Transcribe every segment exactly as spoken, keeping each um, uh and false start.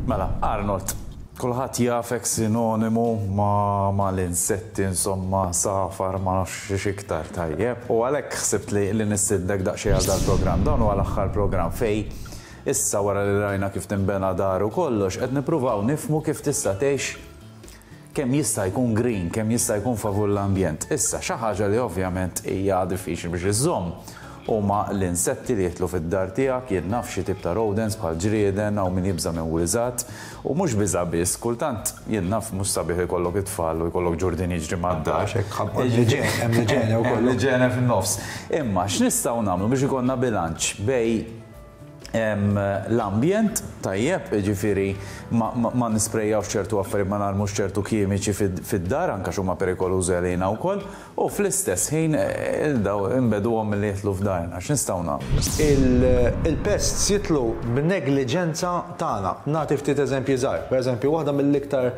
Mela, Arnold, kulħadd jafek sinonimu ma, ma l-insetti, insomma, safar, ma nafx iktar, tajjeb. U għalhekk ħsibt li, li nistiednek daqsxejn għal dal-programm. Dan huwa l-aħħar programm fej issa, wara li rajna kif tinbena dar u kollox, qed nippruvaw nifhmu kif tista' tgħix kemm jista' jkun green, kemm jista' jkun favur l-ambjent. Issa, xi ħaġa li ovvjament hija diffiċli biex iżżomm huma l-insetti li jidħlu fid-dar tiegħek, jien naf xi tip ta' rodents bħal ġrieden hawn min jibża' minn wiżgħat u mhux biża' biss, kultant, jien naf, mhux sabiħ ikollok it-tfal u jkollok ġurdien jiġri mad-dar. Hemm l-iġene wkoll. L-iġene fin-nofs. Imma x'nistgħu nagħmlu biex ikollna bilanċ bejn l-ambjent, tajjeb, ġifieri ma, ma, ma nisprejjawx ċertu affarijiet, ma narmux ċertu kimiċi fid-dar, anka x'huma perikolużi għalina wkoll, u fl-istess ħin eh, daw inbegħduhom milli jidħlu f'darna? X'nistgħu nagħmlu? Il-pests jidħlu b'negliġenza tagħna. Nagħti ftit eżempji żgħar. Per eżempju, waħda mill-iktar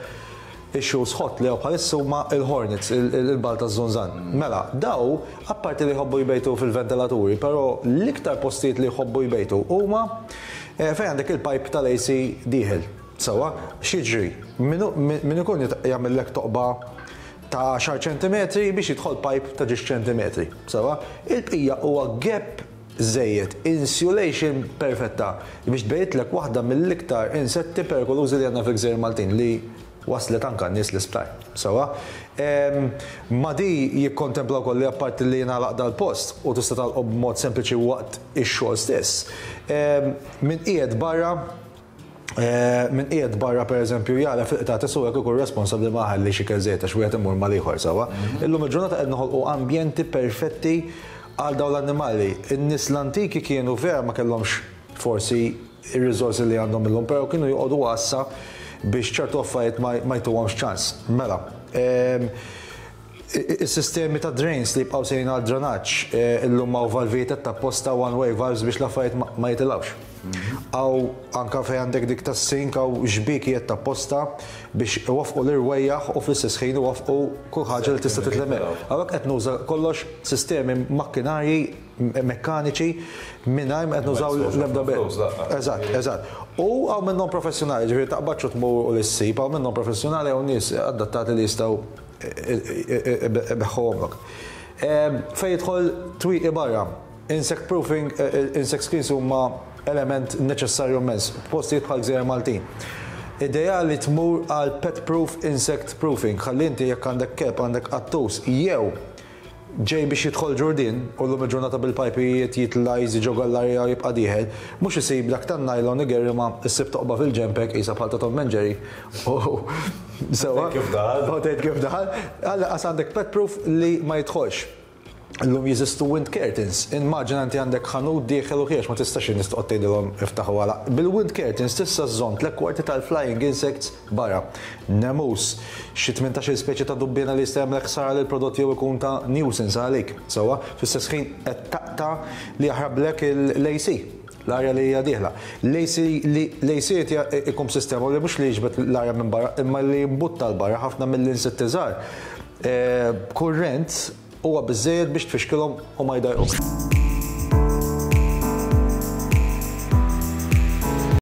issues hot li bħalissa huma il-hornets, il-bagħal taż-żunżan. Mela, daw, apparti li jħobbu jbejtu fil-ventilaturi, però l-iktar postijiet li jħobbu jbejtu huma eh, fejn għandek il-pipe tal-A C dieħel. Sewwa, x'jiġri? Min ikun jagħmellek toqba ta' għaxar ċentimetri biex jidħol pipe ta' ġiex ċentimetri. Sewwa, il-bqija huwa gap żejjed, insulation perfetta biex tbejtlek waħda mill-iktar insetti perikolużi li għandna fil-Gżejjer Maltin li waslet anka n-nies l-isptar. Sewwa, ma di jikkontempla wkoll li apparti li jingħalaq dal-post u tista' tagħlqu b'mod sempliċi waqt ix-xogħol stess. Min qiegħed barra min qiegħed barra, pereżempju, jara fil-qtates u jekk ikun responsabbli ma ħalli xi żejt għax wieħed imur mal-ieħor, sewwa. Illum il-ġurnata qed noħolqu ambjenti perfetti għal dawn l-annimali. In-nies l-antiki kienu vera ma kellhomx forsi ir-riżorsi li għandhom illum, però kienu joqogħdu għassa biex ċertu affarijiet ma jtuhomx ċans. Mela, is-sistemi ta' drains li jibqgħu sejrin għal drenaġġ, illum hawn valvijiet ta' posta, one way valves, biex l-affarijiet ma jitilgħux. Hawn anka fejn għandek dik tas-sink hawn xbikijiet ta' posta biex iwaffqu l-irwejjaħ u fl-istess ħin iwaffqu kull ħaġa li tista' titlemel. Hawnhekk qed nuża kollox sistemi makkinarji mekkaniċi mingħajr qed nużaw l-ebda. Eżatt, eżatt. U hawn minnhom professjonali, ġifieri taqbadx tmur u l-issib, hawn minnhom professjonali, hawn nies adattati li jistgħu ibeħħuhomlok. Fejn jidħol twieqi barra, insect proofing, insect screens huma element neċessarju immens, postijiet bħal Gżejjer Maltin. Ideali tmur għal pet proof insect proofing, ħalli inti jekk għandek kelb, għandek qattus, jew ġej biex jidħol ġurdien, u llum il-ġurnata bil-pajpijiet jitla' jiġi ġo gallarija u jibqa' dieħel, mhux isib dak tan-nylon igerri ma issib toqba fil-ġempek qisha bħal ta' Tom and Jerry. Sewwa. Kif daħal? U tgħid kif daħal. Għalla għandek pet proof li ma jidħolx. Illum jeżistu wind curtains. Immaġina inti għandek ħanut dieħel u ħiex, ma tistax in-nies toqgħod tgħidilhom iftaħu għala. Bil-wind curtains tista' żżomm tliet kwarti tal-flying insects barra. Nemus, xi tmintax-il speċi ta' dubbiena li jista' jagħmlek ħsara lil prodott jew ikun ta' nuisance għalik. Sewwa, fl-istess ħin qed taqta' li jaħrablek l-A C, l-arja li hija dieħla. L-A C ikun sistema li mhux li jiġbed l-arja minn barra, imma li jimbutta l-barra ħafna mill-insetti żgħar. Kurrent huwa biżejjed biex tfixkilhom u ma jdajquk.